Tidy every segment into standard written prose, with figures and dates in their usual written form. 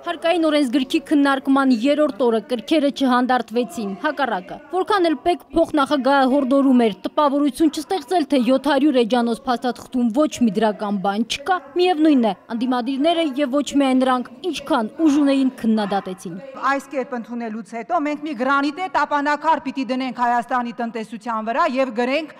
Հարկային օրենսգրքի քննարկման երրորդ օրը կրքերը չհանդարտվեցին, հակառակը։ Որքան էլ պետք փոխնախագահը հորդորում էր տպավորություն չստեղծել, թե 700 էջանոց փաստաթղթում ոչ մի դրական բան չկա, միևնույն է, անդիմադիրները եւ ոչ միայն նրանք, ինչքան ուժ ունեին քննադատեցին։ Այս կերպ ընդունելուց հետո մենք մի գրանիտե տապանակար պիտի դնենք Հայաստանի տնտեսության վրա եւ գրենք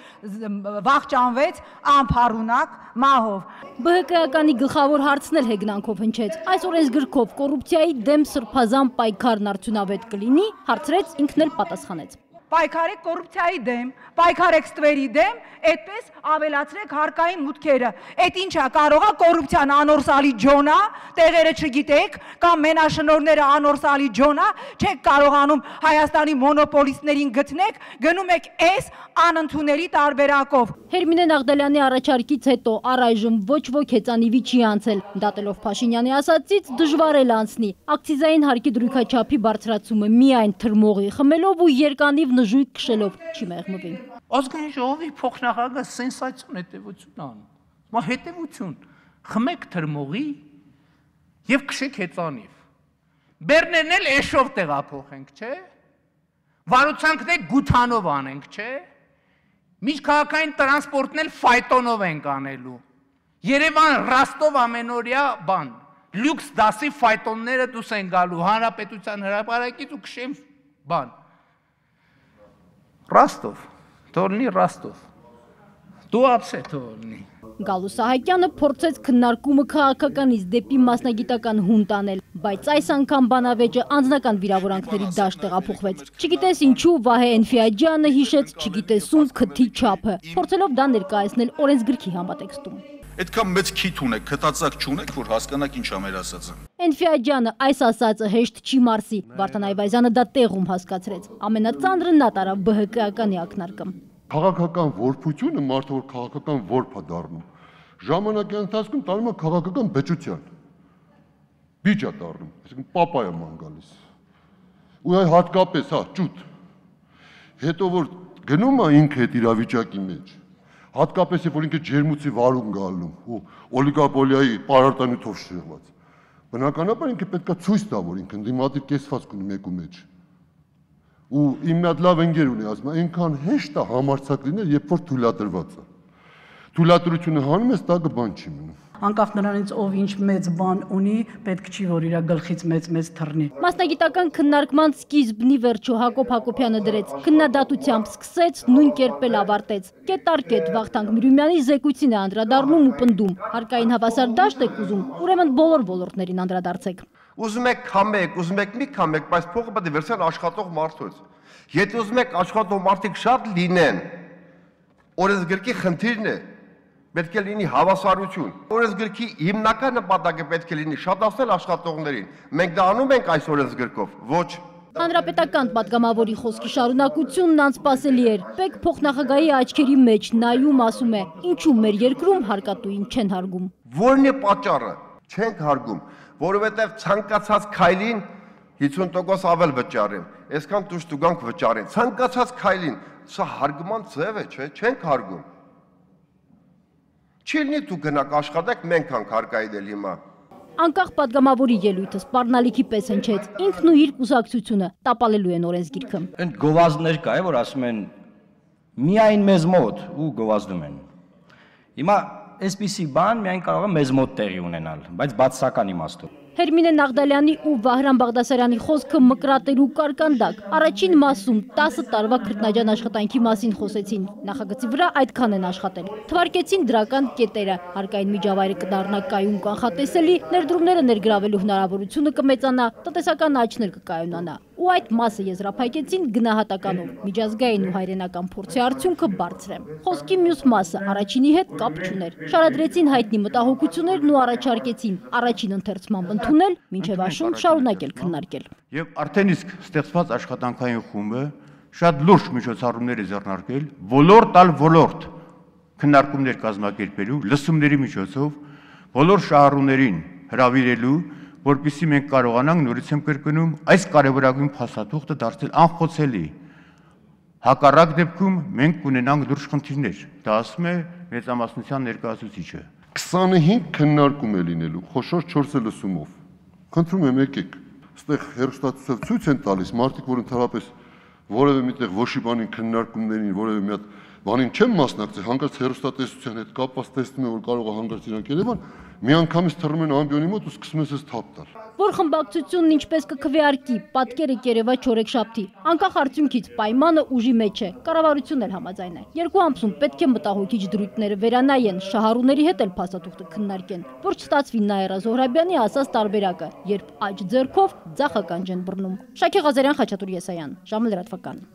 վախճանվեց անփառունակ մահով։ ԲՀԿ-ականի գլխավոր հարցն էլ հեգնանքով հնչեց։ Այս օրենսգրքով կոռուպցիայի դեմ սրբազան պայքարն արդյունավետ կլինի, հարցրեց, ինքն էլ պատասխանեց։ Պայքարեք կոռուպցիայի դեմ, պայքարեք ստվերի դեմ, այդպես ավելացրեք հարկային մուտքերը։ Այդ ինչա, կարողա կոռուպցիան անորսալի ջոնա, տեղերը չգիտեք, կամ մենաշնորհները անորսալի ջոնա, չեք կարողանում Հայաստանի մոնոպոլիստներին գտնեք, գնում եք այս անընդունելի տարբերակով։ Հերմինե Նաղդալյանի առաջարկից հետո առայժմ ոչ ոք հեծանիվի չի անցել, դատելով Փաշինյանի ասածից դժվար էլ անցնի։ Ակցիզային հարկի դրույքաչափի բարձրացումը միայն թրմողի խմելով ու երկանիվ նժույգ քշելով չի մեղմվի։ Ազգային ժողովի փոխնախագահը սենսացիոն հետևություն անում։ Մա հետևություն, խմեք թրմողի եւ քշեք հեծանիվ։ Բեռներն էլ էշով տեղափոխենք, չէ՞։ Վարուցանքն էլ գութանով անենք, չէ՞։ Միջքաղաքային տրանսպորտն էլ ֆայտոնով ենք անելու։ Երևան Ռաստով ամենօրյա բան։ Լյուքս դասի ֆայտոնները դուս են գալու հանրապետության հրապարակից ու քշեմ բան։ Ռաստով, թողնի Ռաստով։ Դու ապսե թողնի։ Գալու Սահակյանը փորձեց քննարկումը քաղաքականից դեպի մասնագիտական հունտ անել, բայց այս անգամ բանավեճը անձնական վիրավորանքների դաշտ տեղափոխվեց։ Չգիտես ինչու Վահե Էնֆիաջյանը հիշեց, չգիտես ում քթի չափը, փորձելով դա ներկայացնել օրենսգրքի համատեքստում։ Այդքան մեծ քիթ ունեք, քտածակ չունեք, որ հասկանաք ինչ ա մեր ասածը։ Էնֆիաջյանը այս ասածը հեշտ չի մարսի, Վարդան Այվազյանը դա տեղում հասկացրեց։ Ամենածանրը նա տարավ ԲՀԿ-ականի ակնարկը։ Քաղաքական որբությունը մարդը որ քաղաքական որբ է դառնում, ժամանակի ընթացքում տանում է քաղաքական բեճության։ Բիճ է դառնում, այսինքն պապայա ման գալիս։ Ու այ հատկապես, հա, ճուտ։ Հետո որ գնում է ինքը այդ իրավիճակի մեջ, հատկապես երբ որ ինքը ջերմուծի վարուն գալու ու օլիգոպոլիայի պարարտանյութով շեղված։ Բնականաբար ինքը պետք է ցույց տա, որ ինքը ընդդիմադիր կեսվածք ունի մեկու մեջ։ Ու իմ մի հատ լավ ընկեր ունի, ասում է, այնքան հեշտ է համարձակ լինել, երբ որ թույլատրված է։ Թույլատրությունը հանում ես, տակը բան չի մնում։ Անկախ նրանից ով ինչ մեծ բան ունի, պետք չի որ իր գլխից մեծ թռնի։ Մասնագիտական քննարկման սկիզբնի վերջո Հակոբ Հակոբյանը դրեց, քննադատությամբ սկսեց, նույն կերպ էլ ավարտեց։ Կետ առ կետ Վախթանգ Միրումյանի զեկույցին է անդրադառնում ու պնդում, հարկային հավասար դաշտ եք ուզում, ուրեմն բոլոր ոլորտներին անդրադարձեք։ Ուզում եք քամեք, ուզում եք մի քամեք, բայց փողը պետք է վերցնել աշխատող մարդուց։ Եթե ուզում եք աշխատող մարդիկ շատ լինեն, օրենսգրքի խնդիրն է, պետք է լինի հավասարություն։ Օրենսգրքի հիմնական նպատակը պետք է լինի շատացնել աշխատողներին։ Մենք դա անում ենք այս օրենսգրքով, ոչ։ Հանրապետական պատգամավորի խոսքի շարունակությունն անսպասելի էր։ Պետք փոխնախագահի աչքերի մեջ նայում ասում է, ինչու մեր երկրում հարկատուին չեն հարգում։ Որն է պատճառը։ Չենք հարգում, որովհետև ցանկացած քայլին 50% ավել վճարեն, այսքան դուրս դուգանք վճարեն։ Ցանկացած քայլին, սա հարգման ձև է, չէ՞, չենք հարգում։ Չի լինի դու գնաք աշխատեք, մենք ենք հարկայել հիմա։ Անկախ պատգամավորի ելույթը սպառնալիքի պես հնչեց, ինքն ու իր կուսակցությունը տապալելու են օրենսգիրքը։ Այն գովազդներ կա, որ ասում են միայն մեզ մոտ ու գովազդում են։ Հիմա այսպիսի բան միայն կարող է մեզ մոտ տեղի ունենալ, բայց բացասական իմաստով։ Հերմինե Նաղդալյանի ու Վահրամ Բաղդասարյանի խոսքը մկրատելու կարկանդակ։ Առաջին մասում 10 տարվա քրտնաջան աշխատանքի մասին խոսեցին։ Նախագծի վրա այդքան են աշխատել։ Թվարկեցին դրական կետերը, հարկային միջավայրը կդառնա կայուն կանխատեսելի, ներդրումները ներգրավելու հնարավորությունը կմեծանա, տնտեսական աճն էլ կկայունանա։ Ու այդ մասը եզրափակեցին գնահատականով, միջազգային ու հայրենական փորձի արդյունքը բարձր է։ Խոսքի մյուս մասը առաջինի հետ կապ չուներ։ Շարադրեցին հայտնի մտահոգություններն ու առաջարկեցին առաջին ընթերցման ընդունել, մինչև աշուն շարունակել քննարկել։ Եվ արդեն իսկ ստեղծված աշխատանքային խումբը շատ լուրջ միջոցառումներ է ձեռնարկել, ոլորտ քննարկումներ կազմակերպելու, լսումների միջոցով բոլոր շահառուներին հրավիրելու, որպեսզի մենք կարողանանք նորից եմ կրկնում այս կարևորագույն փաստաթուղթը դարձնել անխոցելի։ Հակառակ դեպքում մենք կունենանք լուրջ խնդիրներ, դա ասում է մեծամասնության ներկայացուցիչը։ 25 քննարկում է լինելու, խոշոր 4 լսումով։ Խնդրում եմ եկեք, այստեղ հերոստատուսով ցույց են տալիս մարդիկ, որ ընդհանրապես որևէ միտեղ ոչի բանին քննարկումներին, որևէ մի հատ բանին չեմ մասնակցել, հանկարծ հերոստատեսության հետ կապված տեսնում եմ, որ կարող է հանկարծ իրանք Երևան, միանգամից թռնում են ամբիոնի մոտ ու սկսում են թափ տալ։ Որ խմբակցությունն ինչպես կքվեարկի, պատկերը կերևա չորեքշաբթի, անկախ արդյունքից պայմանը ուժի մեջ է, կառավարությունն էլ համաձայն է։ Երկու ամսում պետք է մտահոգիչ դրույթները վերանայեն, շահառուների հետ էլ փաստաթուղթը քննարկեն, որ չստացվի Նաիրա Զոհրաբյանի ասած տարբերակը, երբ աջ ձեռքով ձախ ականջ են բռնում։ Շակե Ղազարյան, Խաչատուր Եսայան, ժամը լրատվական։